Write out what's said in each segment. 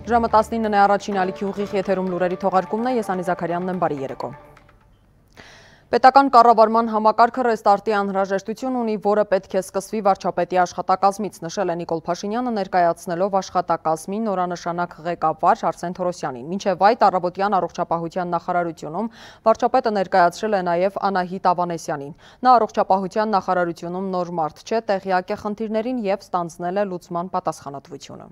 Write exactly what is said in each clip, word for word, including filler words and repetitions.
Ժամը տասնինն է, առաջին ալիքի ուղիղ եթերում լուրերի թողարկումն է, ես Անի Զաքարյանն եմ, բարի երեկո։ Պետական կառավարման համակարգը ռեստարտի անհրաժեշտություն ունի, որը պետք է սկսվի վարչապետի աշխատակազմից, նշել է Նիկոլ Փաշինյանը, ներկայացնելով աշխատակազմի նորանշանակ ղեկավար Արսեն Թորոսյանին։ Մինչև այդ առավոտյան առողջապահության նախարարությունում վարչապետը ներկայացրել է նաև Անահիտ Ավանեսյանին։ Նա առողջապահության նախարարությունում նոր մարդ չէ, տեղյակ է խնդիրներին և ստանձնել է լուծման պատասխանատվությունը։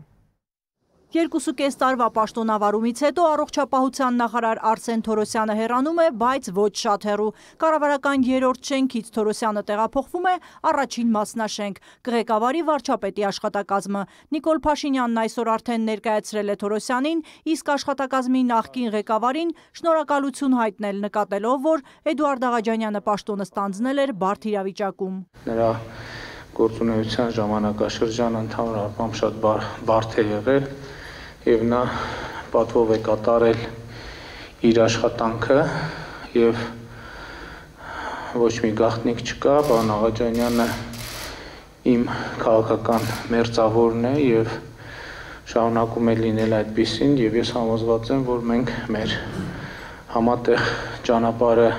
Երկուսուկես տարվա պաշտոնավարումից հետո առողջապահության նախարար Արսեն Թորոսյանը հեռանում է, բայց ոչ շատ հեռու։ Կառավարական երրորդ շենքից Թորոսյանը տեղափոխվում է առաջին մասնաշենք՝ կղեկավարի վարչապետի աշխատակազմը։ Նիկոլ Փաշինյանն այսօր արդեն ներկայացրել է Թորոսյանին, իսկ աշխատակազմի նախկին ղեկավարին շնորհակալություն հայտնել, նկատելով, որ Էդուարդ Աղաջանյանը պաշտոնը ստանձնել էր բարդ իրավիճակում։ Նրա գործունեության ժամանակաշրջանը ընդհանուր առմամբ շատ բարդ է եղել և նա պատվով է կատարել իր աշխատանքը և ոչ մի գաղտնիք չկա, պարոն Աղաջանյանը իմ քաղաքական մերձավորն է և շարունակում է լինել այդպիսին և ես համոզված եմ, որ մենք մեր համատեղ ճանապարհը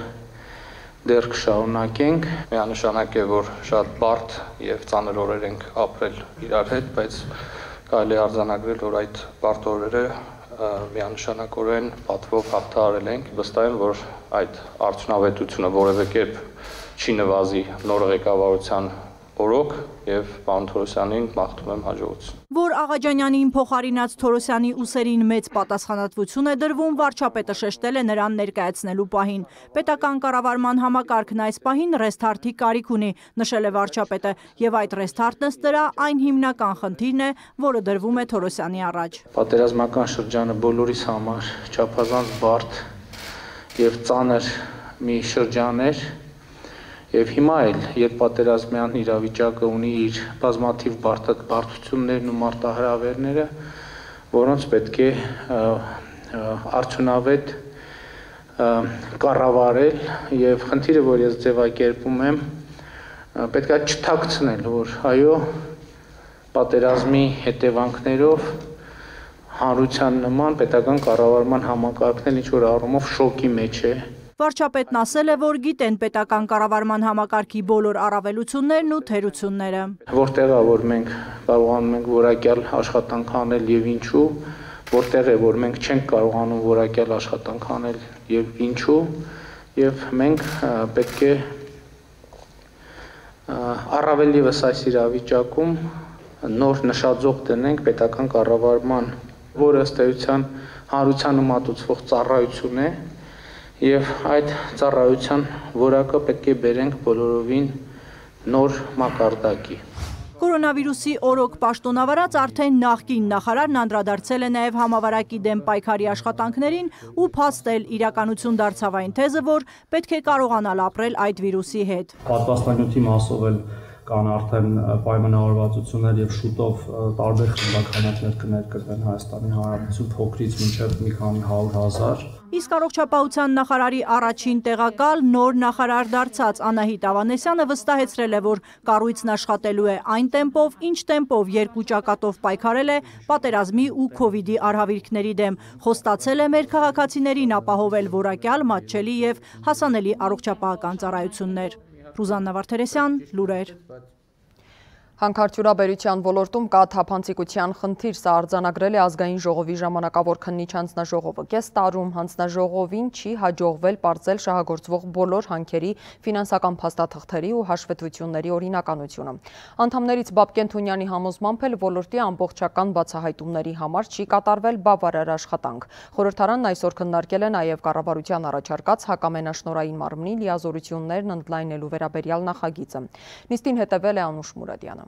դեռ կշարունակենք։ Միանշանակ է, որ շատ բարդ և ծանր օրեր ենք ապրել իրար հետ, բայց կարելի է արձանագրել, որ այդ բարդ օրերը միանշանակորեն պատվով հաղթահարել ենք։ Վստահ եմ, որ այդ արդյունավետությունը որևէ կերպ չի նվազի նոր ղեկավարության օրոք և պարոն Թորոսյանին մաղթում եմ հաջողություն։ Որ Աղաջանյանին փոխարինած Թորոսյանի ուսերին մեծ պատասխանատվություն է դրվում, վարչապետը շեշտել է նրան ներկայացնելու պահին։ Պետական կառավարման համակարգն այս պահին ռեստարտի կարիք ունի, նշել է վարչապետը, և այդ ռեստարտն ըստ դրա այն հիմնական խնդիրն է, որը դրվում է Թորոսյանի առաջ։ Պատերազմական շրջանը բոլորիս համար չափազանց բարդ և ծանր մի շրջան էր, և հիմա էլ ետպատերազմյան իրավիճակը ունի իր բազմաթիվ բարդություններն ու մարտահրավերները, որոնց պետք է արդյունավետ կառավարել, և խնդիրը, որ ես ձևակերպում եմ, պետք է չթաքցնել, որ այո, պատերազմի հետևանքներով հանրության նման պետական կառավարման համակարգն էլ ինչ-որ առումով շոկի մեջ է։ Վարչապետն ասել է, որ գիտեն պետական կառավարման համակարգի բոլոր առավելություններն ու թերությունները։ Որտեղ է, որ մենք կարողանում ենք որակյալ աշխատանք անել և ինչու, որտեղ է, որ մենք չենք կարողանում որակյալ աշխատանք անել և ինչու, և մենք պետք է առավել ևս այս իրավիճակում նոր նշաձող դնենք պետական կառավարման, որը ըստ էության հանրությանը մատուցվող ծառայություն է, և այդ ծառայության որակը պետք է բերենք բոլորովին նոր մակարդակի։ Կորոնավիրուսի օրոք պաշտոնավարած արդեն նախկին նախարարն անդրադարձել է նաև համավարակի դեմ պայքարի աշխատանքներին ու փաստել իրականություն դարձավ այն թեզը, որ պետք է կարողանալ ապրել այդ վիրուսի հետ։ Պատվաստանյութի մասով էլ կան արդեն պայմանավորվածություններ և շուտով տարբեր խմբականակներ կներկրվեն Հայաստանի Հանրապետություն, փոքրից մինչև մի քանի հարյուր հազար։ Իսկ առողջապահության նախարարի առաջին տեղակալ նոր նախարար դարձած Անահիտ Ավանեսյանը վստահեցրել է, որ կառույցն աշխատելու է այն տեմպով, ինչ տեմպով երկու ճակատով պայքարել է պատերազմի ու քովիդի արհավիրքների դեմ, խոստացել է մեր քաղաքացիներին ապահովել որակյալ, մատչելի և հասանելի առողջապահական ծառայություններ։ Ռուզաննա Վարդերեսյան, լուրեր։ Հանքարդյունաբերության ոլորտում կա թափանցիկության խնդիր, սա արձանագրել է ազգային ժողովի ժամանակավոր քննիչ հանձնաժողովը։ Կես տարում հանձնաժողովին չի հաջողվել պարզել շահագործվող բոլոր հանքերի ֆինանսական փաստաթղթերի ու հաշվետվությունների օրինականությունը։ Անդամներից Բաբկեն Թունյանի համոզմամբ էլ ոլորտի ամբողջական բացահայտումների համար չի կատարվել բավարար աշխատանք։ Խորհրդարանն այսօր քննարկել է նաև կառավարության առաջարկած հակամենաշնորհային մարմնի լիազորություններն ընդլայնելու վերաբերյալ նախագիծը։ Նիստին հետևել է Անուշ Մուրադյանը։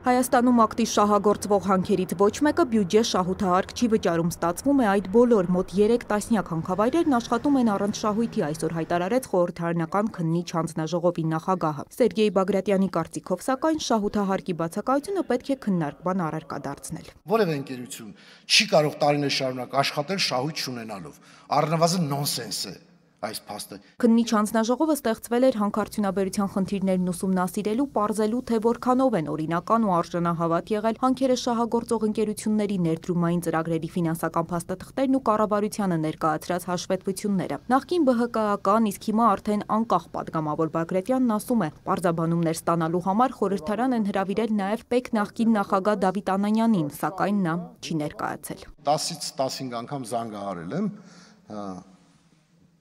Հայաստանում ակտիվ շահագործվող հանքերից ոչ մեկը բյուջե շահութահարկ չի վճարում, ստացվում է այդ բոլոր մոտ երեք տասնյակ հանքավայրերն աշխատում են առանց շահույթի, այսօր հայտարարեց խորհրդարանական քննիչ հանձնաժողովի նախագահը։ Սերգեյ Բագրատյանի կարծիքով, սակայն շահութահարկի բացակայությունը պետք է քննարկման առարկա դարձնել։ Որևէ ընկերություն չի կարող տարիներ շարունակ աշխատել շահույթ չունենալով, առնվազն նոնսենս է։ այս փաստը։ Քննիչ հանձնաժողովը ստեղծվել էր հանքարդյունաբերության խնդիրներն ուսումնասիրելու, պարզելու, թե որքանով են օրինական ու արժանահավատ եղել հանքերը շահագործող ընկերությունների ներդրումային ծրագրերի ֆինանսական փաստաթղթերն ու կառավարությանը ներկայացրած հաշվետվությունները։ Նախկին Բ Հ Կ-ական, իսկ հիմա արդեն անկախ падգամավոր Բագրատյանն ասում է, պարզաբանումներ ստանալու համար խորհրդարան են հրավիրել նաև ՊԵԿ նախկին նախագահ Դավիթ Անանյանին, սակայն նա չի ներկայացել։ տասից տասնհինգ անգամ զանգահարել եմ,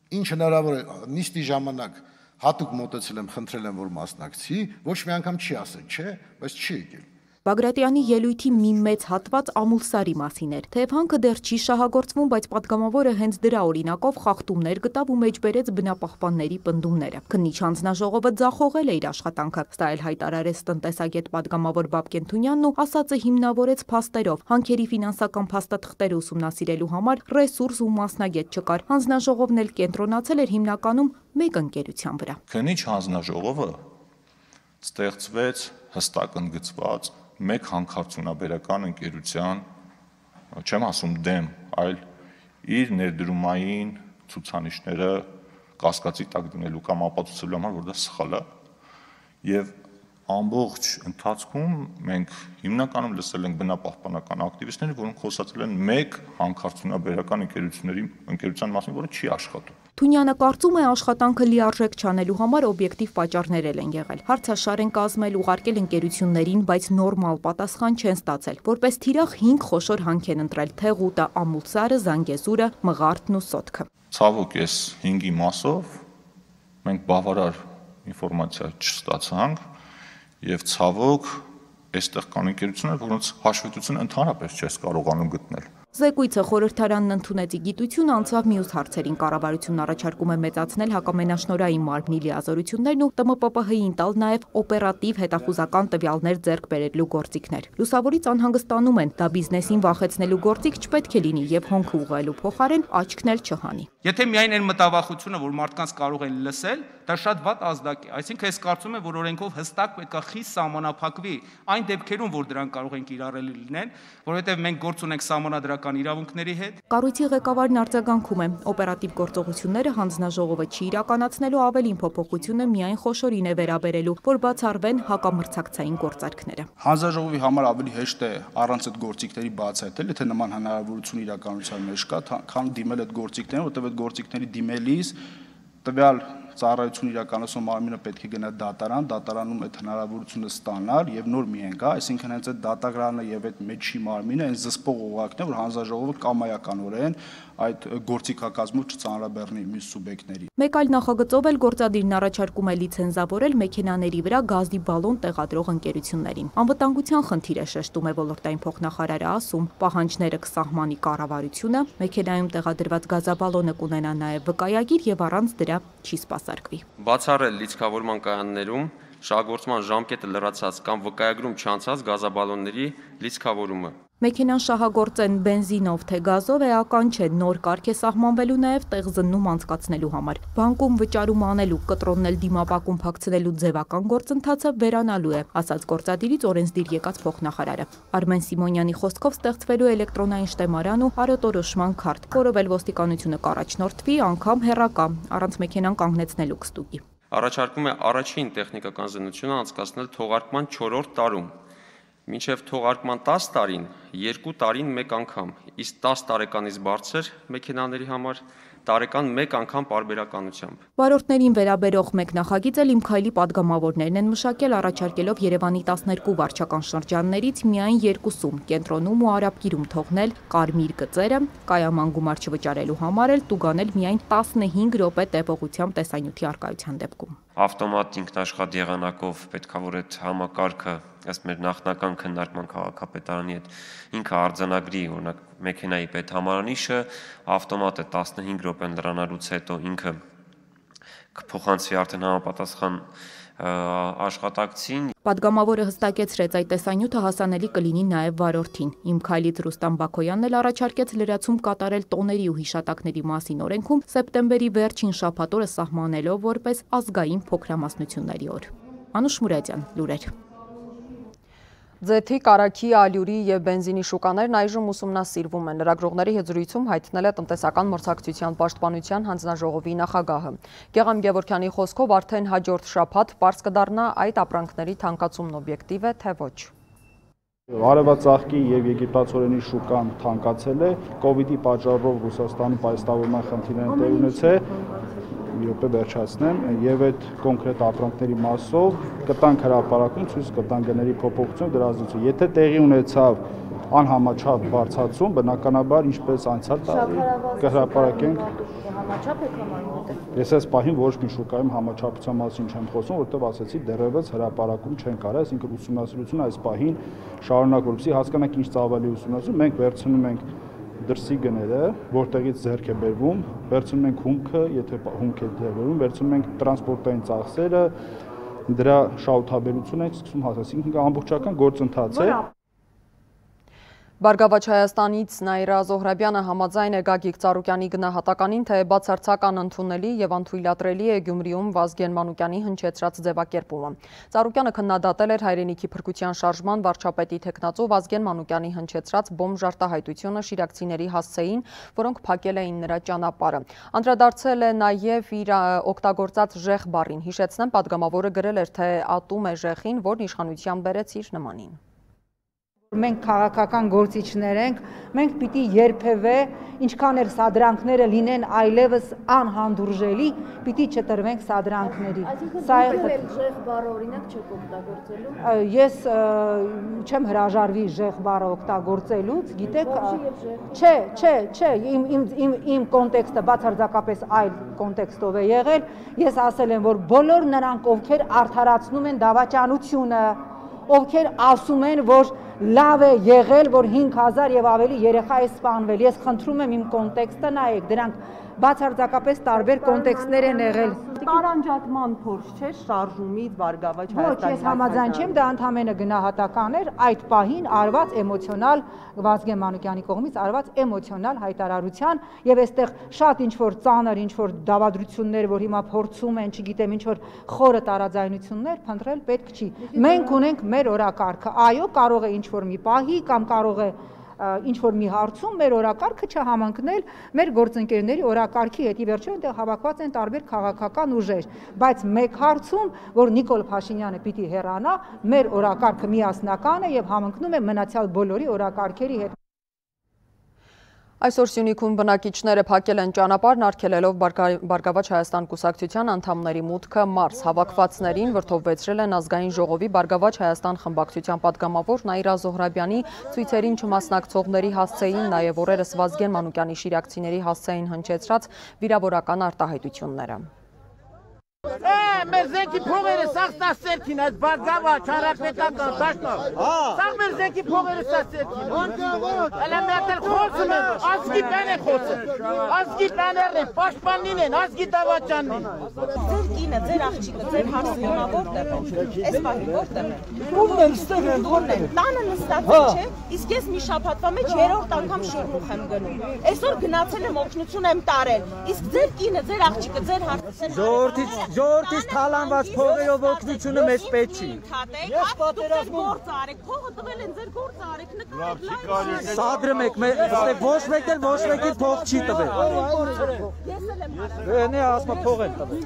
ինչ հնարավոր է նիստի ժամանակ հատուկ մոտեցել եմ, խնդրել եմ, որ մասնակցի, ոչ մի անգամ չի ասել, չէ, բայց չի եկել։ Բագրատյանի ելույթի մի մեծ հատված Ամուլսարի մասին էր, թեև հանքը դեռ չի շահագործվում, բայց падգամավորը հենց դրա օրինակով խախտումներ գտավ ու մեջբերեց բնապահպանների պնդումները։ Քննիչ հանձնաժողովը ձախողել է իր աշխատանքը, սա էլ հայտարարեց տնտեսագետ падգամավոր Բաբկեն Թունյանն ու ասածը հիմնավորեց փաստերով։ Հանքերի ֆինանսական փաստաթղթերը ուսումնասիրելու համար ռեսուրս ու մասնագետ չկար։ Հանձնաժողովն էլ կենտրոնացել էր հիմնականում մեկ ընկերության վրա։ Քննիչ հանձնաժողովը ստեղծվեց հստակ ընդգծված մեկ հանքարդյունաբերական ընկերության, չեմ ասում դեմ, այլ իր ներդրումային ցուցանիշները կասկածի տակ դնելու կամ ապացուցելու համար, որ դա սխալ է, եւ ամբողջ ընթացքում մենք հիմնականում լսել ենք բնապահպանական ակտիվիստների, որոնք խոսացել են մեկ հանքարդյունաբերական ընկերությունների ընկերության մասին, որը չի աշխատում։ Թունյանը կարծում է, աշխատանքը լիարժեք չանելու համար օբյեկտիվ պատճառներ են եղել։ Հարցաշար են կազմել, ուղարկել ընկերություններին, բայց նորմալ պատասխան չեն ստացել։ Որպես թիրախ հինգ խոշոր հանք են ընտրել՝ Թեղուտը, Ամուլսարը, Զանգեզուրը, Մղարդն ու Սոտքը։ Ցավոք այս հինգի մասով մենք բավարար ինֆորմացիա չստացանք եւ ցավոք այստեղ կան ընկերություններ, որոնց հաշվետվությունը ընդհանրապես չես կարողանում գտնել։ Զեկույցը խորհրդարանն ընդունեց ի գիտություն, անցավ մյուս հարցերին։ Կառավարությունն առաջարկում է մեծացնել հակամենաշնորհային մարմնի լիազորություններն ու Տ M P P H-ին տալ նաև օպերատիվ հետախուզական տվյալներ ձեռք բերելու գործիքներ։ Լուսավորից անհանգստանում են, դա բիզնեսին վախեցնելու գործիք չպետք է լինի եւ հոնքը ուղղելու փոխարեն աչքն էլ չհանի։ Եթե միայն այն մտավախությունը, որ մարդկանց կարող են լսել, դա շատ վատ ազդակ է։ Այսինքն ես կարծում եմ, որ օրենքով հստակ պետք է խիստ սահմանափակվի այն դեպքերում, որ դրանք կարող են կիրառելի լինեն, որովհետեւ մենք գործ ունենք սահմանադրական իրավունքների հետ։ Կառույցի ղեկավարն արձագանքում է, օպերատիվ գործողությունները հանձնաժողովը չի իրականացնելու, ավելին փոփոխությունը միայն խոշորին է վերաբերելու, որ բացառվեն հակամրցակցային գործարքները։ Հանձնաժողովի համար ավելի հեշտ է առանց այդ գործիքների բացահայտել, եթե նման հնարավորություն իրականության մեջ կա, քան դիմել այդ գործիքներին, որտեղ այդ գործիքների դիմելիս տվյալ ծառայություն իրականացնող մարմինը պետք է գնա դատարան, դատարանում այդ հնարավորությունը ստանալ եւ նոր միայն կա, այսինքն հենց այդ դատագրանը եւ այդ մեջի մարմինը այն զսպող օղակն է, որ հանձնաժողովը կամայականորեն այդ գործիքակազմով չծանրաբեռնի մյուս սուբյեկտների։ Մեկ այլ նախագծով էլ գործադիրն առաջարկում է լիցենզավորել մեքենաների վրա գազի բալոն տեղադրող ընկերություններին։ Անվտանգության խնդիր է շեշտում է ոլորտային փոխնախարարը, ասում, պահանջները կսահմանի կառավարությունը, մեքենայում տեղադրված գազաբալոնը կունենա նաև վկայագիր եւ առանց դրա չի սպասարկվի։ Բացառել լիցքավորման կայաններում շահագործման ժամկետը լրացած կամ վկայագրում չանցած գազաբալոնների լիցքավորումը։ Մեքենան շահագործեն բենզինով թե գազով էական չէ, նոր կարգ է սահմանվելու նաև տեղզննում անցկացնելու համար։ Բանկում վճարում անելու, կտրոննել դիմապակում փակցնելու ձևական գործընթացը վերանալու է, ասաց գործադիրից օրենսդիր եկած փոխնախարարը։ Արմեն Սիմոնյանի խոսքով ստեղծվելու էլեկտրոնային շտեմարան ու հարոտորոշման քարտ, որով էլ ոստիկանությունը կառաջնորդվի, անգամ հեռակա, առանց մեքենան կանգնեցնելու կստուգի։ Առաջարկում է առաջին տեխնիկական զննությունը անցկացնել թողարկման չորրորդ տարում։ Մինչև թողարկման տասը տարին երկու տարին մեկ անգամ, իսկ տասը տարեկանից բարձր մեքենաների համար տարեկան մեկ անգամ պարբերականությամբ։ Վարորդներին վերաբերող մեկ նախագիծ էլ Իմ քայլի падգամավորներն են մշակել, առաջարկելով Երևանի տասներկու վարչական շրջաններից միայն երկուսում՝ Կենտրոնում ու Արաբկիրում թողնել կարմիր գծերը, կայաման գումար չվճարելու համար էլ տուգանել միայն տասնհինգ րոպե տևողությամբ տեսանյութի առկայության դեպքում։ Ավտոմատ ինքնաշխատ եղանակով պետքա որ այդ համակարգը ըստ մեր նախնական քննարկման քաղաքապետարանի հետ ինքը արձանագրի, օրինակ մեքենայի պետհամարանիշը, ավտոմատը տասնհինգ րոպեն լրանալուց հետո ինքը կփոխանցվի արդեն համապատասխան աշխատակցին։ Պատգամավորը հստակեցրեց, այդ տեսանյութը հասանելի կլինի նաև վարորդին։ Իմ քայլից Ռուստամ Բակոյանն էլ առաջարկեց լրացում կատարել տոների ու հիշատակների մասին օրենքում սեպտեմբերի վերջին շաբաթ օրը սահմանելով որպես ազգային փոքրամասնությունների օր։ Անուշ Մուրադյան, լուրեր։ Ձեթի, կարագի, ալյուրի և բենզինի շուկաներն այժմ ուսումնասիրվում են։ Լրագրողների հետ զրույցում հայտնել է տնտեսական մրցակցության պաշտպանության հանձնաժողովի նախագահը։ Գեղամ Գևորգյանի խոսքով արդեն հաջորդ շաբաթ պարզ կդառնա այդ ապրանքների թանկացումն օբյեկտիվ է, թե ոչ։ Արևածաղկի եւ եգիպտացորենի շուկան թանկացել է, կովիդի պատճառով Ռուսաստանի պայստավորման խնդիրներ տեղ ունեցել, մի րոպե վերջացնեմ, եւ այդ կոնկրետ ապրանքների մասով կտանք հրապարակում ցույց կտան գների փոփոխություն դրա ազդեցություն։ Եթե տեղի ունեցավ անհամաչափ բարձրացում, բնականաբար ինչպես անցյալ տարի կհրապարակենք համաչափ եք համարում։ Ես այս պահին ոչ մի շուկայում համաչափության մասին չեմ խոսում, որովհետև ասացի դեռևս հրապարակում չեն կարող, այսինքն ուսումնասիրությունը այս պահին շարունակվի, որպեսզի հասկանանք ինչ ծավալի ուսումնասիրում, մենք վերցնում ենք դրսի գները, որտեղից ձեռք է բերվում, վերցնում ենք հումքը, եթե հումք է բերվում, վերցնում ենք տրանսպորտային ծախսերը, դրա շահութաբերությունը ենք սկսում հասնել, այսինքն ամբողջական գործընթաց է։ Բարգավաճ Հայաստանից Նաիրա Զոհրաբյանը համաձայն է Գագիկ Ծառուկյանի գնահատականին, թե բացարձական ընդունելի եւ անթույլատրելի է Գյումրիում Վազգեն Մանուկյանի հնչեցրած ձևակերպումը։ Ծառուկյանը քննադատել էր հայրենիքի փրկության շարժման վարչապետի թեկնածու Վազգեն Մանուկյանի հնչեցրած բոմժարտահայտությունը շիրակցիների հասցեին, որոնք փակել էին նրա ճանապարհը։ Անդրադարձել է նաեւ իր օգտագործած ժեղ բառին։ Հիշեցնեմ, падգամավորը գրել էր, թե ատում է ժեղին, որն իշխանության բերեց իր նմանին։ Մենք քաղաքական գործիչներ ենք, մենք պիտի երբևէ, ինչքան էլ սադրանքները լինեն այլևս անհանդուրժելի, պիտի չտրվենք սադրանքների։ Այսինքն ժեղ բառը օրինակ չեք օգտագործելու։ Ես չեմ հրաժարվի ժեղ բառը օգտագործելուց, գիտեք, չէ, չէ, չէ, իմ իմ իմ կոնտեքստը բացարձակապես այլ կոնտեքստով է եղել։ Ես ասել եմ, որ բոլոր նրանք, ովքեր արդարացնում են դավաճանությունը, ովքեր ասում են, որ լավ է եղել, որ հինգ հազար եւ ավելի երեխա է սպանվել։ Ես խնդրում եմ իմ կոնտեքստը նայեք, դրանք բացարձակապես տարբեր կոնտեքստներ են եղել։ Տարանջատման փորձ չէ շարժումից Բարգավաճ Հայաստանի։ Ոչ, ես համաձայն չեմ, դա ընդհանրապես գնահատական էր այդ պահին արված էմոցիոնալ Վազգեն Մանուկյանի կողմից արված էմոցիոնալ հայտարարության եւ այստեղ շատ ինչ որ ծանր, ինչ որ դավադրություններ, որ հիմա փորձում են, չգիտեմ, ինչ որ խորը տարաձայնություններ փնտրել պետք չի։ Մենք ունենք մեր օրակարգը։ Այո, կարող է ինչ որ մի պահի կամ կարող է ինչ-որ մի հարցում մեր օրակարգը չհամընկնել մեր գործընկերների օրակարգի հետ, ի վերջո այնտեղ հավաքված են տարբեր քաղաքական ուժեր, բայց մեկ հարցում, որ Նիկոլ Փաշինյանը պիտի հեռանա, մեր օրակարգը միասնական է եւ համընկնում է մնացյալ բոլորի օրակարգերի հետ։ Այսօր Սյունիքում բնակիչները փակել են ճանապարհն արգելելով Բարգավաճ Հայաստան կուսակցության անդամների մուտքը մարզ։ Հավաքվածներին վրդովվեցրել են ազգային ժողովի Բարգավաճ Հայաստան խմբակցության падգամավոր Նաիրա Զոհրաբյանի ցույցերին չմասնակցողների հասցեին, նաև օրերս Վազգեն Մանուկյանի շիրակցիների հասցեին հնչեցրած վիրավորական արտահայտությունները։ Մեր զենքի փողերը սաղ ստա սերքին, այս Բարգավաճ Հանրապետական դաշնավ։ Սաղ մեր զենքի փողերը ստա սերքին։ Հələ մեկ էլ խոսում են, ազգի բան է խոսում։ Ազգի բաներն են, պաշտպանին են, ազգի դավաճանն են։ Ձեր կինը, ձեր աղջիկը, ձեր հարցը հիմա որտեղ է։ Այս բանի որտեղ է։ Ո՞ւմն են ստեղ են, ո՞ւմն են։ Տանը նստած է, չէ։ Իսկ ես մի շաբաթվա մեջ երրորդ անգամ շիրմուխ եմ գնում։ Այսօր գնացել եմ օգնություն եմ տարել։ Իսկ ձեր կինը, ձեր աղջիկը, ձեր հարցը։ Ժողովրդից ժողովրդից թալանված փողերով օգնությունը մեզ պետք չի։ Ես պատերազմ գործ արեք, փողը տվել են ձեր գործ արեք, նկարեք։ Սադրում եք, ոչ մեկ էլ ոչ մեկին փող չի տվել։ Ես էլ եմ։ Էնի ասма փող են տվել։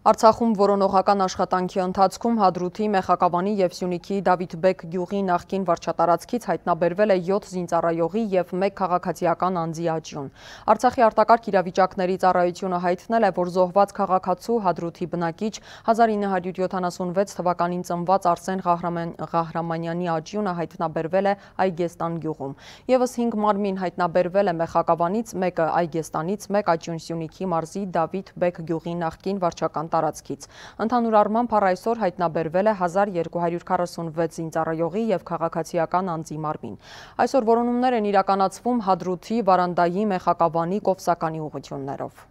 Արցախում որոնողական աշխատանքի ընթացքում Հադրութի, Մեխակավանի և Սյունիքի Դավիթբեկ գյուղի նախկին վարչատարածքից հայտնաբերվել է յոթ զինծառայողի և մեկ քաղաքացիական անձի աճյուն։ Արցախի արտակարգ իրավիճակների ծառայությունը հայտնել է, որ զոհված քաղաքացու Հադրութի բնակիչ հազար ինը հարյուր յոթանասունվեց թվականին ծնված Արսեն Ղահրամանյանի աճյունը հայտնաբերվել է Այգեստան գյուղում։ Եվս հինգ մարմին հայտնաբերվել է Մեխակավանից, մեկը Այգեստանից, մեկ աճյուն Սյունիքի մարզի Դավիթբեկ գյուղի նախկին վարչական տարածքից։ Ընդհանուր առմամբ առ այսօր հայտնաբերվել է հազար երկու հարյուր քառասունվեց զինծառայողի և քաղաքացիական անձի մարմին։ Այսօր որոնումներ են իրականացվում Հադրութի, Վարանդայի, Մեխակավանի, Կովսականի ուղղություններով։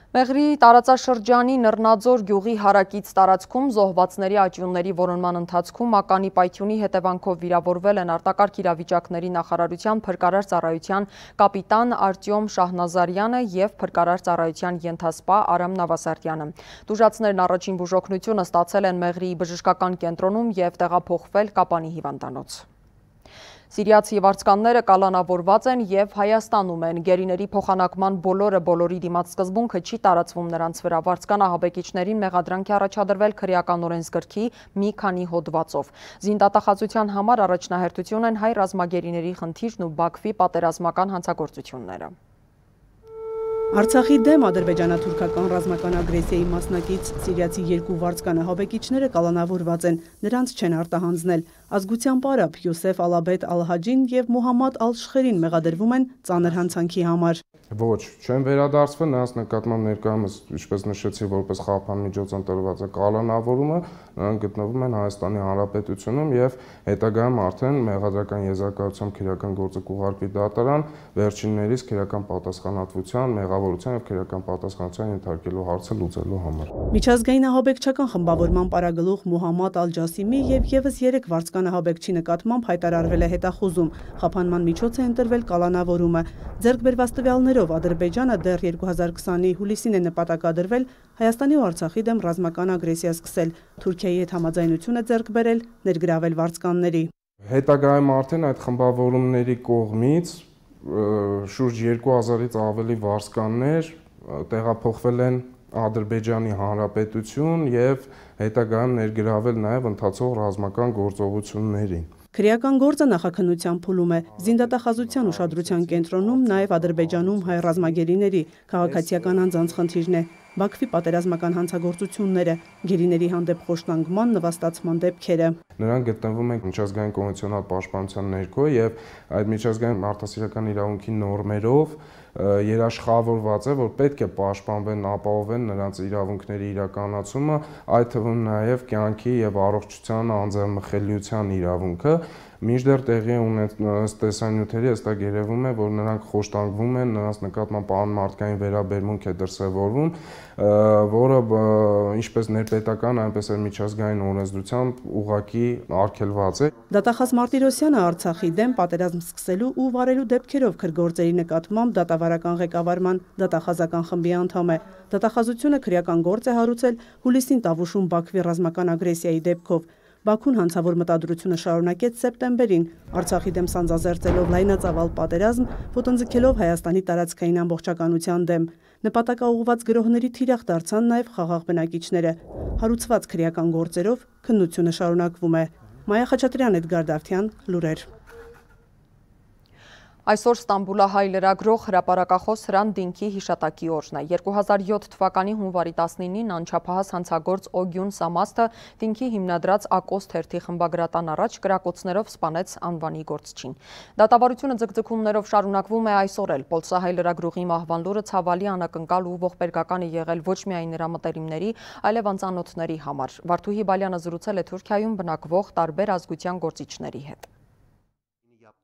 Մեղրի տարածաշրջանի Նռնաձոր գյուղի հարակից տարածքում զոհվածների աճյունների որոնման ընթացքում ականի պայթյունի հետևանքով վիրավորվել են արտակարգ իրավիճակների նախարարության փրկարար ծառայության կապիտան Արտյոմ Շահնազարյանը և փրկարար ծառայության ենթասպա Արամ Նավասարդյանը։ Տուժածներն առաջին բուժօգնությունը ստացել են Մեղրիի բժշկական կենտրոնում և տեղափոխվել Կապանի հիվանդանոց։ Սիրիացի վարձկանները կալանավորված են և Հայաստանում են։ Գերիների փոխանակման բոլորը բոլորի դիմաց սկզբունքը չի տարածվում նրանց վրա։ Վարձկանահաբեկիչներին մեղադրանք է առաջադրվել քրեական օրենսգրքի մի քանի հոդվածով։ Զինդատախազության համար առաջնահերթություն են հայ ռազմագերիների խնդիրն ու Բաքվի պատերազմական հանցագործությունները։ Արցախի դեմ ադրբեջանա-թուրքական ռազմական ագրեսիայի մասնակից սիրիացի երկու վարձկանահաբեկիչները կալանավորված են, նրանց չեն արտահանձնել։ Ազգությամբ արաբ Յուսեֆ Ալաբեդ Ալ-Հաջին և Մուհամմադ Ալ-Շխերին մեղադրվում են ծանր հանցանքի համար։ Ոչ, չեն վերադարձվել, նրանց նկատմամբ ներկայումս, ինչպես նշեցի, որպես խափան միջոց ընտրված է կալանավորումը, նրանք գտնվում են Հայաստանի Հանրապետությունում և հետագայում արդեն մեղադրական եզրակացությամբ քրեական գործը կուղարկվի դատարան, վերջիններիս քրեական պատասխանատվության, մեղավորության և քրեական պատասխանատվության ենթարկելու հարցը լուծելու համար։ Միջազգային ահաբեկչական խմբավորման պարագլուխ Մուհամմադ Ալ-Ջասիմի և ևս երեք վարձկանահաբեկչի նկատմամբ հայտարարվել է հետախուզում։ Խափանման միջոց է ընտրվել կալանավորումը։ Ձեռք բերված տվյալներով Ադրբեջանը դեռ երկու հազար քսանի հուլիսին է նպատակադրվել Հայաստանի ու Արցախի դեմ ռազմական ագրեսիա սկսել, Թուրքիայի հետ համաձայնություն է ձեռք բերել ներգրավել վարձկանների։ Հետագայում արդեն այդ խմբավորումների կողմից շուրջ երկու հազարից ավելի վարձկաններ տեղափոխվել են Ադրբեջանի Հանրապետություն և հետագայում ներգրավել նաև ընթացող ռազմական գործողություններին։ Քրեական գործը նախաքննության փուլում է։ Զինդատախազության ուշադրության կենտրոնում նաև Ադրբեջանում հայ ռազմագերիների քաղաքացիական անձանց խնդիրն է, Բաքվի պատերազմական հանցագործությունները, գերիների հանդեպ խոշտանգման, նվաստացման դեպքերը։ Նրանք գտնվում են միջազգային կոնվենցիոնալ պաշտպանության ներքո և այդ միջազգային մարդասիրական իրավունքի նորմերով երաշխավորված է, որ պետք է պաշտպանվեն, ապահովեն նրանց իրավունքների իրականացումը, այդ թվում նաև կյանքի և առողջության անձեռնմխելիության իրավունքը, մինչդեռ տեղի ունեցած տեսանյութերի հստակ երևում է, որ նրանք խոշտանգվում են, նրանց նկատմամբ անմարդկային վերաբերմունք է դրսևորվում, որը ինչպես ներպետական, այնպես էլ միջազգային օրենսդրությամբ ուղղակի արգելված է։ Դատախազ Մարտիրոսյանը Արցախի դեմ պատերազմ սկսելու ու վարելու դեպքերով քրգործերի նկատմամբ դատավարական ղեկավարման դատախազական խմբի անդամ է։ Դատախազությունը քրեական գործ է հարուցել հուլիսին Տավուշում Բաքվի ռազմական ագրեսիայի դեպքով։ Բաքուն հանցավոր մտադրությունը շարունակեց սեպտեմբերին, Արցախի դեմ սանձազերծելով լայնածավալ պատերազմ, ոտնձգելով Հայաստանի տարածքային ամբողջականության դեմ։ Նպատակաուղղված գրոհների թիրախ դարձան նաև խաղաղ բնակիչները։ Հարուցված քրեական գործերով քննությունը շարունակվում է։ Մայա Խաչատրյան, Էդգար Դավթյան, լուրեր։ Այսօր Ստամբուլահայ լրագրող հրապարակախոս Հրանտ Դինքի հիշատակի օրն է։ երկու հազար յոթ թվականի հունվարի տասնինին անչափահաս հանցագործ Օգյուն Սամաստը Դինքի հիմնադրած Ակոս թերթի խմբագրատան առաջ կրակոցներով սպանեց անվանի գործչին։ Դատավարությունը ձգձգումներով շարունակվում է այսօր էլ։ Պոլսահայ լրագրողի մահվան լուրը ցավալի անակնկալ ու ողբերգական է եղել ոչ միայն նրա մտերիմների, այլև անծանոթների համար։ Վարդուհի Բալյանը զրուցել է Թուրքիայում բնակվող տարբեր ազգության գործիչների հետ։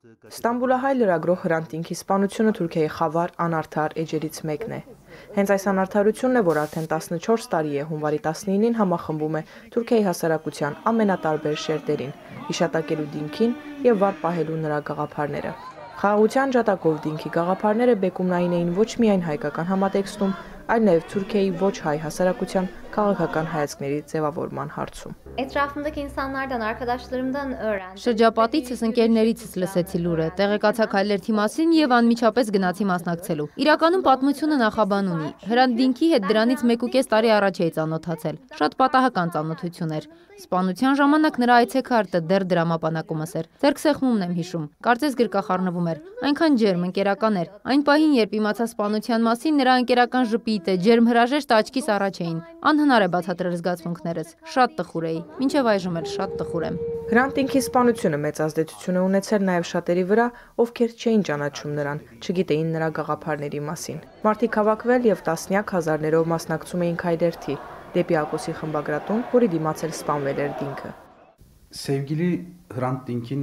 Ստամբուլահայ լրագրող Հրանտ Դինքի սպանությունը Թուրքիայի խավար անարդար էջերից մեկն է։ Հենց այս անարդարությունն է, որ արդեն տասնչորս տարի է հունվարի տասնինին համախմբում է Թուրքիայի հասարակության ամենատարբեր շերտերին, հիշատակելու Դինքին և վար պահելու նրա գաղափարները։ Խաղաղության ջատագով Դինքի գաղափարները բեկումնային էին ոչ միայն հայկական համատեքստում, այլ նաև Թուրքիայի ոչ հայ հասարակության քաղաքական հայացքների ձևավորման հարցում։ Etrafımdaki insanlardan, arkadaşlarımdan öğrendim. Շրջապատիցս ընկերներիցս լսեցի լուրը, տեղեկացա քայլերթի մասին եւ անմիջապես գնացի մասնակցելու։ Իրականում պատմությունը նախաբան ունի։ Հրանտ Դինքի հետ դրանից մեկ ու կես տարի առաջ էի ծանոթացել։ Շատ պատահական ծանոթություն էր։ Սպանության ժամանակ նրա այցեքարտը դեռ դրամապանակումս էր։ Ձերք սեղմումն եմ հիշում։ Կարծես գրկախառնվում էր։ Այնքան ջերմ, ընկերական էր։ Այն պահին, երբ իմացա սպանության մասին, նրա ընկերական ժպիտը, ջերմ հրաժեշտը աչքիս առաջ էին։ Անհնար է բացատրել զգացմունքներս։ Շատ տխուր էի։ Մինչև այժմ էլ շատ տխուր եմ։ Հրանտ Դինքի սպանությունը մեծ ազդեցություն է ունեցել նաև շատերի վրա, ովքեր չէին ճանաչում նրան, չգիտեին նրա գաղափարների մասին։ Մարդիկ հավաքվել եւ տասնյակ հազարներով մասնակցում էին քայլերթի դեպի Ակոսի խմբագրատուն, որի դիմաց էլ սպանվել էր Դինքը։ Sevgili Hrant Dink'in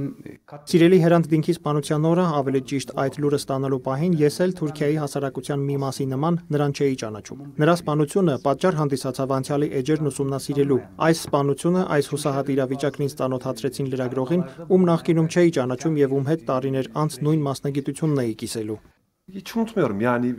Սիրելի Հրանտ Դինքի սպանության օրը, ավելի ճիշտ այդ լուրը ստանալու պահին, ես էլ Թուրքիայի հասարակության մի մասի նման նրան չէի ճանաչում։ Նրա սպանությունը պատճառ հանդիսացավ անցյալի էջերն ուսումնասիրելու։ Այս սպանությունը, այս հուսահատ իրավիճակն ինձ ծանոթացրեցին լրագրողին, ում նախկինում չէի ճանաչում եւ ում հետ տարիներ անց նույն մասնագիտությունն էի կիսելու։ Hiç unutmuyorum yani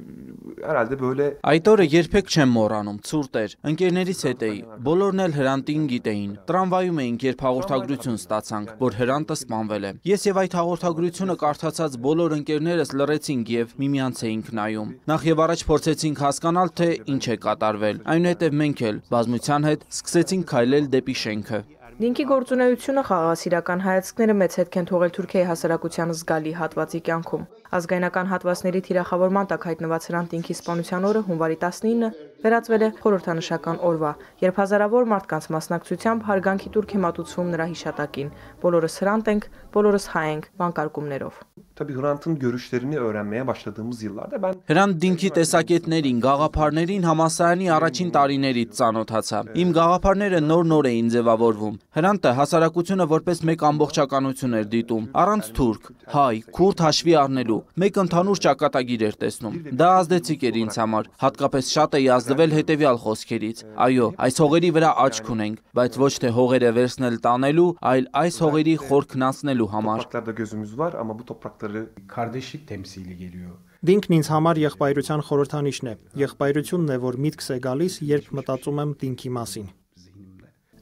herhalde böyle Այդ օրը երբեք չեմ մոռանում, ցուրտ էր, ընկերներից հետ էի, բոլորն էլ Հրանտին գիտեին, տրամվայում էինք, երբ հաղորդագրություն ստացանք, որ Հրանտը սպանվել է։ Ես եւ այդ հաղորդագրությունը կարդացած բոլոր ընկերներս լռեցինք եւ միմյանց էինք նայում։ Նախ եւ առաջ փորձեցինք հասկանալ, թե ինչ է կատարվել, այնուհետեւ մենք էլ բազմության հետ սկսեցինք քայլել դեպի շենքը։ Դինքի գործունեությունը խաղաղասիրական հայացքները մեծ հետք են թողել Թուրքիայի հասարակության զգալի հատվածի կյանքում։ Ազգայնական հատվածների թիրախավորման տակ հայտնված Հրանտ Դինքի սպանության օրը հունվարի տասնինը վերածվել է խորհրդանշական օրվա, երբ հազարավոր մարդկանց մասնակցությամբ հարգանքի տուրք է մատուցվում նրա հիշատակին։ Բոլորս Հրանտ ենք, բոլորս հայ ենք բանկարկումներով։ Tabii Hrant'ın görüşlerini öğrenmeye başladığımız yıllarda ben Հրանտ Դինքի տեսակետներին, գաղափարներին համասարանի առաջին տարիներից ծանոթացա։ Իմ գաղափարները նոր-նոր էին ձևավորվում։ Հրանտը հասարակությունը որպես մեկ ամբողջականություն էր դիտում, առանց թուրք, հայ, քուրդ հաշվի առնելու, մեկ ընդհանուր ճակատագիր էր տեսնում։ Դա ազդեցիկ էր ինձ համար, հատկապես շատ էի ազդվել հետևյալ խոսքերից. Այո, այս հողերի վրա աչք ունենք, բայց ոչ թե հողերը վերցնել տանելու, այլ այս հողերի խորքն անցնելու համար։ topraklarda gözümüz var ama bu toprakları kardeşlik temsili geliyor. Դինքն ինձ համար եղբայրության խորհրդանիշն է։ Եղբայրությունն է, որ միտքս է գալիս, երբ մտածում եմ Դինքի մասին։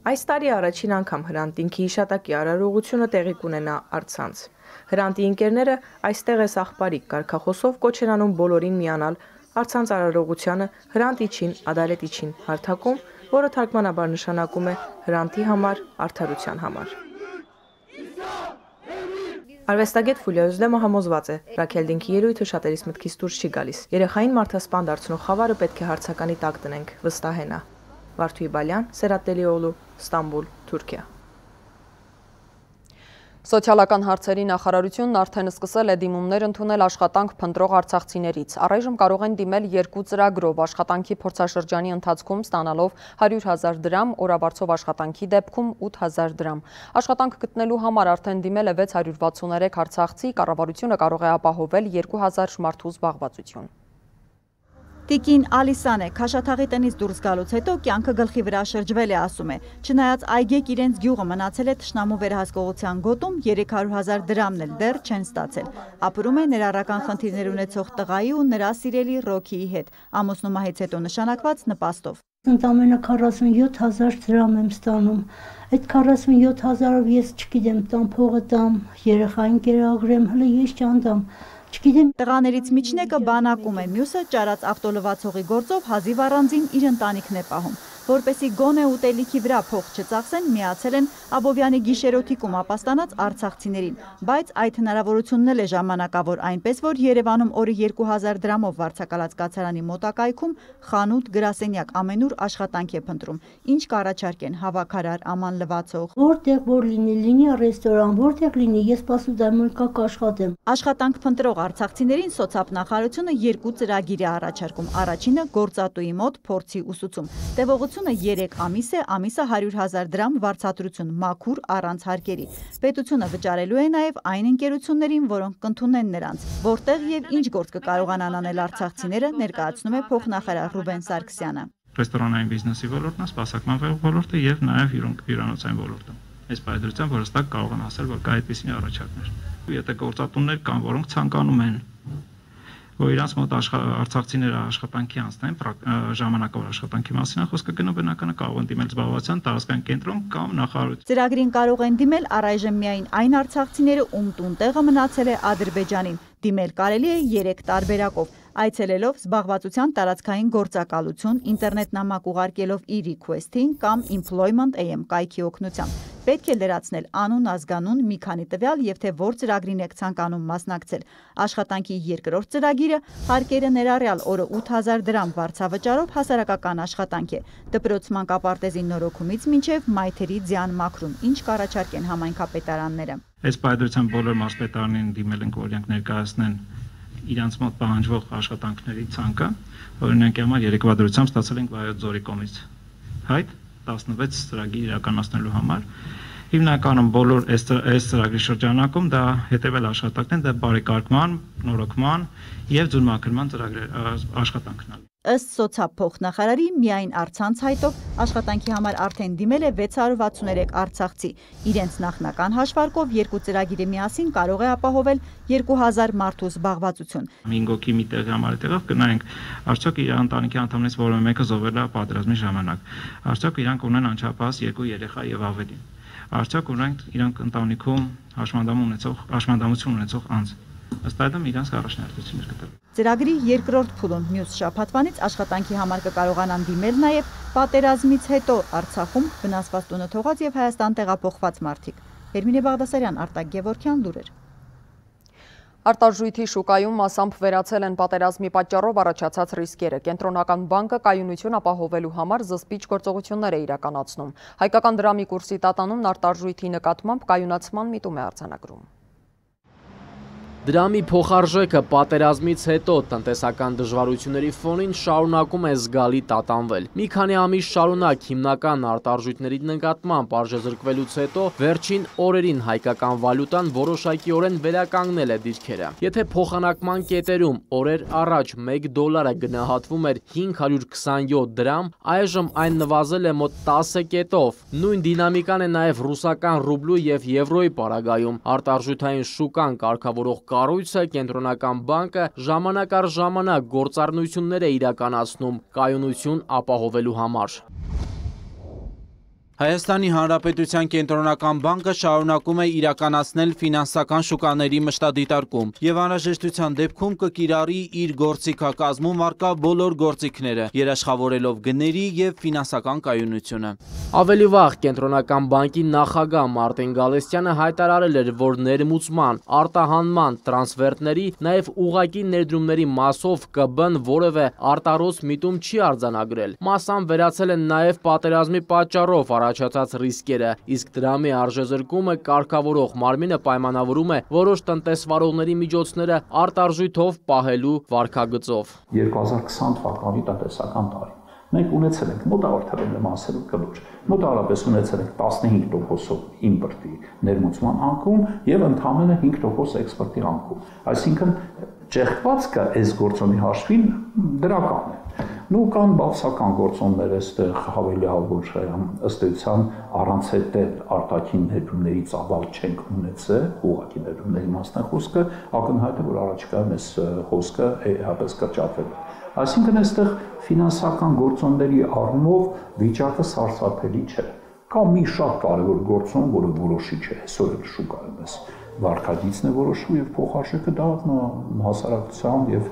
Այս տարի առաջին անգամ Հրանտ Դինքի հիշատակի արարողությունը տեղի կունենա առցանց։ Հրանտի ընկերները այստեղ է սաղբարիկ կարգախոսով կոչ են անում բոլորին միանալ առցանց արարողությանը Հրանտ իջին, ադալետ իջին հարթակում, որը թարգմանաբար նշանակում է Հրանտի համար, արդարության համար։ Արվեստագետ Ֆուլիա Օզլեմը համոզված է, Ռաքել Դինքի ելույթը շատերիս մտքից դուրս չի գալիս։ Երեխային մարդասպան դարձնող խավարը պետք է հարցականի տակ տնենք, վստահենա։ Վարդուհի Բալյան, Սերատելիօղլու, Ստամբուլ, Թուրքիա։ Սոցիալական հարցերի նախարարությունն արդեն սկսել է դիմումներ ընդունել աշխատանք փնտրող արցախցիներից։ Առայժմ կարող են դիմել երկու ծրագրով աշխատանքի փորձաշրջանի ընթացքում ստանալով հարյուր հազար դրամ, օրավարձով աշխատանքի դեպքում ութ հազար դրամ։ Աշխատանք գտնելու համար արդեն դիմել է վեց հարյուր վաթսուներեք արցախցի, կառավարությունը կարող է ապահովել երկու հազար մարդու զբաղվածություն։ Տիկին Ալիսան է, Քաշաթաղի տնից դուրս գալուց հետո կյանքը գլխի վրա շրջվել է, ասում է։ Չնայած այգեկ իրենց գյուղը մնացել է թշնամու վերահսկողության գոտում, երեք հարյուր հազար դրամն էլ դեռ չեն ստացել։ Ապրում է ներառական խնդիրներ ունեցող տղայի ու նրա սիրելի Ռոքիի հետ, ամուսնու մահից հետո նշանակված նպաստով։ Ընդամենը քառասունյոթ հազար դրամ եմ ստանում։ Այդ քառասունյոթ հազարով ես չգիտեմ, տամ փողը տամ, երեխային կերակրեմ, հələ ես չանդամ։ Տղաներից միջնեկը բանակում է, մյուսը ճարած ավտոլվացողի գործով հազիվ առանձին իր ընտանիքն է պահում։ Որպեսի գոնե ուտելիքի վրա փող չծախսեն, միացել են Աբովյանի գիշերօթիկում ապաստանած արցախցիներին, բայց այդ հնարավորությունն էլ է ժամանակավոր, այնպես որ Երևանում օրը երկու հազար դրամով վարձակալած կացարանի մոտակայքում խանութ, գրասենյակ ամենուր աշխատանք է փնտրում։ Ինչ կառաջարկեն հավաքարար, աման լվացող։ Որտեղ որ լինի, լինի ռեստորան, որտեղ լինի, ես պասուդայմոնկա կաշխատեմ։ Աշխատանք փնտրող արցախցիներին սոցիալ-նախարարությունը երկու ծրագիր է առաջարկում։ Առաջինը գործատուի մոտ փորձի ուսուցում։ Տևողությունը երեք ամիս է, ամիսը հարյուր հազար դրամ վարձատրություն, մաքուր առանց հարկերի։ Պետությունը վճարելու է նաև այն ընկերություններին, որոնք կընդունեն նրանց, որտեղ եւ ինչ գործ կկարողանան անել արցախցիները, ներկայացնում է փոխնախարար Ռուբեն Սարգսյանը։ Ռեստորանային բիզնեսի ոլորտն է, սպասարկման ոլորտը եւ նաև հյուրանոցային ոլորտը։ Այս պայմանությամբ որ հստակ կարող են ասել, որ կա այդպիսի առաջարկներ։ Եթե գործատուններ կան, որոնք ցանկանում են որ իրանց մոտ արցախցիները աշխատանքի անցնեն, ժամանակավոր աշխատանքի մասին է խոսքը գնում, բնականը կարող են դիմել զբաղվածության տարածքային կենտրոն կամ նախարարություն։ Ծրագրին կարող են դիմել առայժմ միայն այն արցախցիները, ում տուն տեղը մնացել է Ադրբեջանին։ Դիմել կարելի է երեք տարբերակով, այցելելով զբաղվածության տարածքային գործակալություն, ինտերնետ նամակ ուղարկելով e-request-ին կամ employment A M կայքի օգնությամբ։ Պետք է լրացնել անուն, ազգանուն, մի քանի տվյալ եւ թե որ ծրագրին եք ցանկանում մասնակցել։ Աշխատանքի երկրորդ ծրագիրը հարկերը ներառյալ օրը ութ հազար դրամ վարձավճարով հասարակական աշխատանք է։ Դպրոց մանկապարտեզի նորոգումից մինչև մայթերի ձյան մաքրում, ինչ կառաջարկեն համայնքապետարանները։ Այս պայմանությամբ բոլոր մարզպետարանին դիմել ենք, որ իրենք ներկայացնեն իրանց մոտ պահանջվող աշխատանքների ցանկը, օրինակ համար երեկվա դրությամբ ստացել ենք Վայոց ձորի կողմից հայտ տասնվեց ծրագիր իրականացնելու համար Հիմնականում բոլոր այս ծրագրի շրջանակում դա հետևել աշխատանքն է, դա բարեկարգման, նորոգման եւ ձուլմաքրման ծրագրեր աշխատանքն է։ Ըստ սոցիալ-փոխնախարարի միայն առցանց հայտով աշխատանքի համար արդեն դիմել է վեց հարյուր վաթսուներեք արցախցի։ Իրենց նախնական հաշվարկով երկու ծրագիրը միասին կարող է ապահովել երկու հազար մարդու զբաղվածություն։ Հինգ հոգի մի տեղի համար տեղով կնայենք, արդյոք իր ընտանիքի անդամներից որևէ մեկը զոհվել է պատերազմի ժամանակ։ Արդյոք իրանք ունեն անչափահաս երկու երեխա եւ ավելին։ Արդյոք ունենք իրանք ընտանիքում հաշմանդամ ունեցող, հաշմանդամություն ունեցող անձ։ Ըստ այդմ իրանք առաջնահերթություններ կտրվի։ Ծրագրի երկրորդ փուլում մյուս շաբաթվանից աշխատանքի համար կկարողանան դիմել նաև պատերազմից հետո Արցախում վնասված տունը թողած եւ Հայաստան տեղափոխված մարդիկ։ Էրմինե Բաղդասարյան, Արտակ Գևորգյան, լուրեր։ Արտարժույթի շուկայում մասամբ վերացել են պատերազմի պատճառով առաջացած ռիսկերը։ Կենտրոնական բանկը կայունություն ապահովելու համար զսպիչ գործողություններ է իրականացնում։ Հայկական դրամի կուրսի տատանումն արտարժույթի նկատմամբ կայունացման միտում է արձանագրում։ Դրամի փոխարժեքը պատերազմից հետո տնտեսական դժվարությունների ֆոնին շարունակում է զգալի տատանվել։ Մի քանի ամիս շարունակ հիմնական արտարժույթների նկատմամբ արժեզրկվելուց հետո վերջին օրերին հայկական վալյուտան որոշակիորեն վերականգնել է դիրքերը։ Եթե փոխանակման կետերում օրեր առաջ մեկ դոլարը գնահատվում էր հինգ հարյուր քսանյոթ դրամ, այժմ այն նվազել է մոտ տասը կետով։ Նույն դինամիկան է նաև ռուսական ռուբլու եւ եվրոյի պարագայում։ Արտարժութային շուկան կարգավորող կառույցը կենտրոնական բանկը ժամանակ առ ժամանակ գործառնություններ է իրականացնում կայունություն ապահովելու համար։ Հայաստանի Հանրապետության կենտրոնական բանկը շարունակում է իրականացնել ֆինանսական շուկաների մշտադիտարկում եւ անհրաժեշտության դեպքում կկիրառի իր գործիքակազմում առկա բոլոր գործիքները, երաշխավորելով գների եւ ֆինանսական կայունությունը։ Ավելի վաղ կենտրոնական բանկի նախագահ Մարտին Գալստյանը հայտարարել էր, որ ներմուծման, արտահանման, տրանսֆերտների, նաեւ ուղղակի ներդրումների մասով ԿԲ-ն որևէ արտարոց միտում չի արձանագրել։ Մասամբ վերացել են նաեւ պատերազմի պատճառով առաջացած ռիսկերը, իսկ դրամի արժեզրկումը կարգավորող մարմինը պայմանավորում է որոշ տնտեսվարողների միջոցները արտարժույթով պահելու վարքագծով։ երկու հազար քսան թվականի տնտեսական տարի մենք ունեցել ենք մոտավոր թվերն ասելու կլուր, մոտավորապես ունեցել ենք տասնհինգ տոկոսով իմպորտի ներմուծման անկում եւ ընդամենը հինգ տոկոս էքսպորտի անկում, այսինքն ճեղքվածքը այս գործոնի հաշվին դրական է։ Նու կան բացական գործոններ այստեղ հավելյալ ըստ էության առանց հետել արտաքին ներդրումների ծավալ չենք ունեցել, ուղղակի ներդրումների մասն է խոսքը, ակնհայտ է, որ առաջիկայում այս խոսքը հապես կրճատվել է։ Այսինքն այստեղ ֆինանսական գործոնների առումով վիճակը սարսափելի չէ։ Կա մի շատ կարևոր գործոն, որը որոշիչ է, այսօր էլ շուկայում էս վարկագիծն է որոշում եւ փոխարժեքը դա հասարակության եւ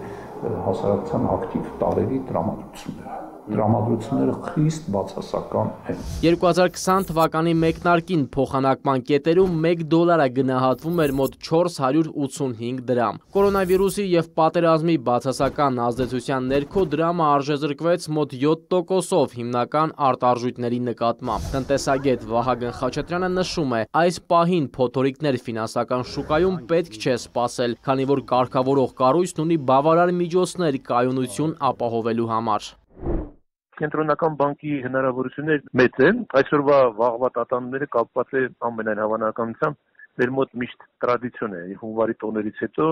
հասարակության ակտիվ տարերի տրամադրությունները։ Տրամադրությունները խիստ բացասական են։ երկու հազար քսան թվականի մեկնարկին փոխանակման կետերում մեկ դոլարը գնահատվում էր մոտ չորս հարյուր ութսունհինգ դրամ։ Կորոնավիրուսի եւ պատերազմի բացասական ազդեցության ներքո դրամը արժեզրկվեց մոտ յոթ տոկոսով հիմնական արտարժույթների նկատմամբ։ Տնտեսագետ Վահագն Խաչատրյանը նշում է, այս պահին փոթորիկներ ֆինանսական շուկայում պետք չէ սպասել, քանի որ կարգավորող կառույցն ունի բավարար միջոցներ կայունություն ապահովելու համար։ Կենտրոնական բանկի հնարավորությունները մեծ են, այսօրվա վաղվա տատանումները կապված է ամենայն հավանականությամբ մեր մոտ միշտ տրադիցիոն է, հունվարի տոներից հետո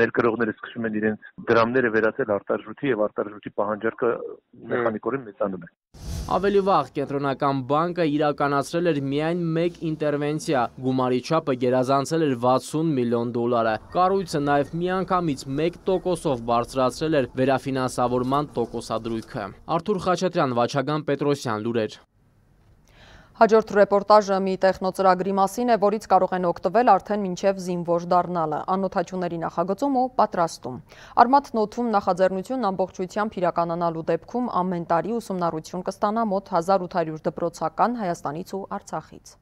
ներկրողները սկսում են իրենց դրամները վերածել արտարժույթի եւ արտարժույթի պահանջարկը մեխանիկորեն մեծանում է։ Ավելի վաղ կենտրոնական բանկը իրականացրել էր միայն մեկ ինտերվենցիա, գումարի չափը գերազանցել էր վաթսուն միլիոն դոլարը։ Կառույցը նաև միանգամից մեկ տոկոսով բարձրացրել էր վերաֆինանսավորման տոկոսադրույքը։ Արթուր Խաչատրյան, Վաչագան Պետրոսյան, լուրեր։ Հաջորդ ռեպորտաժը մի տեխնոծրագրի մասին է, որից կարող են օգտվել արդեն մինչև զինվոր դառնալը, անօդաչուների նախագծում ու պատրաստում։ Արմաթ նոթում նախաձեռնությունն ամբողջությամբ իրականանալու դեպքում ամեն տարի ուսումնառություն կստանա մոտ հազար ութ հարյուր դպրոցական Հայաստանից ու Արցախից։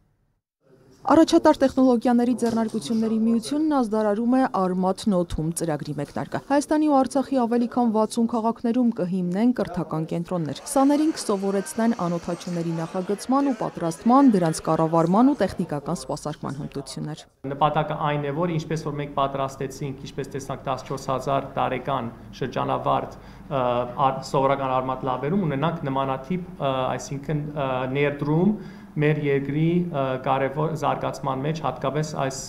Առաջատար տեխնոլոգիաների ձեռնարկությունների միությունն ազդարարում է Արմաթ նոթում ծրագրի մեկնարկը։ Հայաստանի ու Արցախի ավելի քան վաթսուն քաղաքներում կհիմնեն կրթական կենտրոններ։ Սաներին կսովորեցնեն անօդաչուների նախագծման ու պատրաստման, դրանց կառավարման ու տեխնիկական սպասարկման հմտություններ։ Նպատակը այն է, որ ինչպես որ մենք պատրաստեցինք, ինչպես տեսանք տասնչորս հազար տարեկան շրջանավարտ սովորական արմատ լաբերում ունենանք նմանատիպ, այսինքն ներդրում մեր երկրի կարևոր զարգացման մեջ հատկապես այս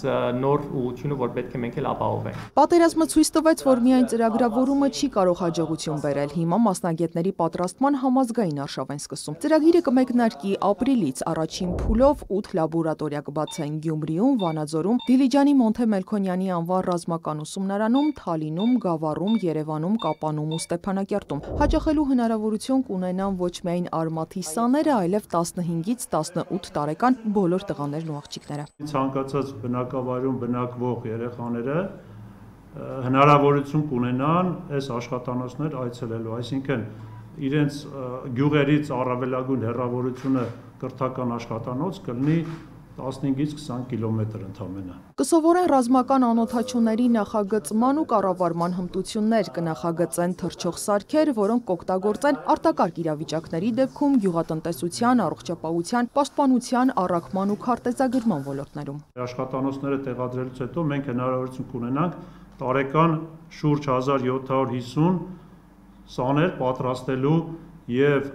նոր ուղղությունը, որ պետք է մենք էլ ապահովենք։ Պատերազմը ցույց տվեց, որ միայն ծրագրավորումը չի կարող հաջողություն բերել։ Հիմա մասնագետների պատրաստման համազգային արշավ են սկսում։ Ծրագիրը կմեկնարկի ապրիլից առաջին փուլով ութ լաբորատորիա կբացեն Գյումրիում, Վանաձորում, Դիլիջանի Մոնթե Մելքոնյանի անվան ռազմական ուսումնարանում, Թալինում, Գավառում, Երևանում, Կապանում ու Ստեփանակերտում։ Հաճախելու հնարավորություն կունենան ոչ միայն արմաթի սաները, այլև տասնհինգից տասնութ տարեկան բոլոր տղաներն ու աղջիկները։ Ցանկացած բնակավայրում բնակվող երեխաները հնարավորություն կունենան այս աշխատանոցներ այցելելու, այսինքն իրենց գյուղերից առավելագույն հեռավորությունը կրթական աշխատանոց կլինի տասնհինգից քսան կիլոմետր ընդամենը։ Կսովորեն ռազմական անօդաչուների նախագծման ու կառավարման հմտություններ, կնախագծեն թռչող սարքեր, որոնք կօգտագործեն արտակարգ իրավիճակների դեպքում գյուղատնտեսության, առողջապահության, պաշտպանության, առաքման ու քարտեզագրման ոլորտներում։ Աշխատանոցները տեղադրելուց հետո մենք հնարավորություն կունենանք տարեկան շուրջ հազար յոթ հարյուր հիսուն սաներ պատրաստելու եւ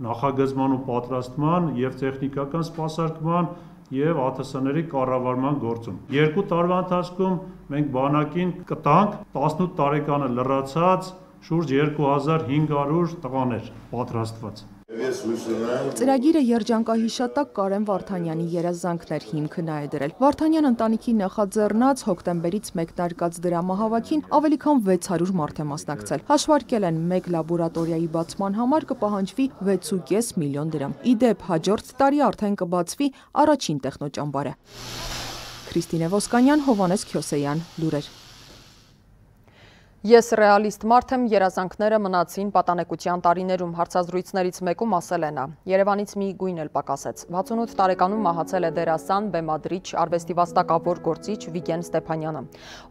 նախագծման ու պատրաստման եւ տեխնիկական սպասարկման եւ ԱԹՍ ների կառավարման գործում։ Երկու տարվա ընթացքում մենք բանակին կտանք տասնութ տարեկանը լրացած շուրջ երկու հազար հինգ հարյուր տղաներ պատրաստված։ Ծրագիրը երջանկահիշատակ Կարեն Վարդանյանի երազանքներ հիմքը նա է դրել։ Վարդանյան ընտանիքի նախաձեռնած հոկտեմբերից մեկնարկած դրամահավաքին ավելի քան վեց հարյուր մարդ է մասնակցել։ Հաշվարկել են մեկ լաբորատորիայի բացման համար կպահանջվի վեց ու կես միլիոն դրամ։ Ի դեպ, հաջորդ տարի արդեն կբացվի առաջին տեխնոճամբարը։ Քրիստինե Ոսկանյան, Հովանես Քյոսեյան, լուրեր։ Ես ռեալիստ մարդ եմ, երազանքները մնացին պատանեկության տարիներում, հարցազրույցներից մեկում ասել է նա։ Երևանից մի գույն էլ պակասեց։ վաթսունութ տարեկանում մահացել է դերասան, բեմադրիչ, արվեստի վաստակավոր գործիչ Վիգեն Ստեփանյանը։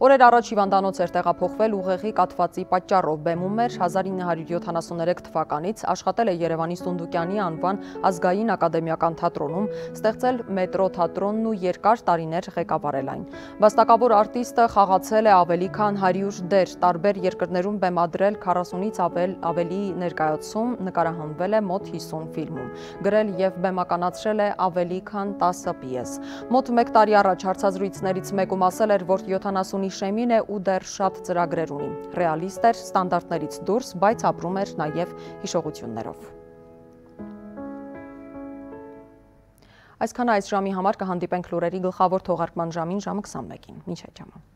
Օրեր առաջ հիվանդանոց էր տեղափոխվել ուղեղի կաթվածի պատճառով, բեմում էր հազար ինը հարյուր յոթանասուններեք թվականից, աշխատել է Երևանի Սունդուկյանի անվան ազգային ակադեմիական թատրոնում, ստեղծել մետրո թատրոնն ու երկար տարիներ ղեկավարել այն։ Վաստակավոր արտիստը խաղացել է ավելի քան հարյուր դեր, տարբեր երկրներում բեմադրել քառասունից ավել, ավելի ներկայացում, նկարահանվել է մոտ հիսուն ֆիլմում, գրել և բեմականացրել է ավելի քան տասը պիես։ Մոտ մեկ տարի առաջ հարցազրույցներից մեկում ասել էր, որ յոթանասունի շեմին է ու դեռ շատ ծրագրեր ունի։ Ռեալիստ էր, ստանդարտներից դուրս, բայց ապրում էր նաև հիշողություններով։ Այսքանը այս ժամի համար կհանդիպենք լուրերի գլխավոր թողարկման ժամին ժամը քսանմեկին։ Մինչ այդ ժամը։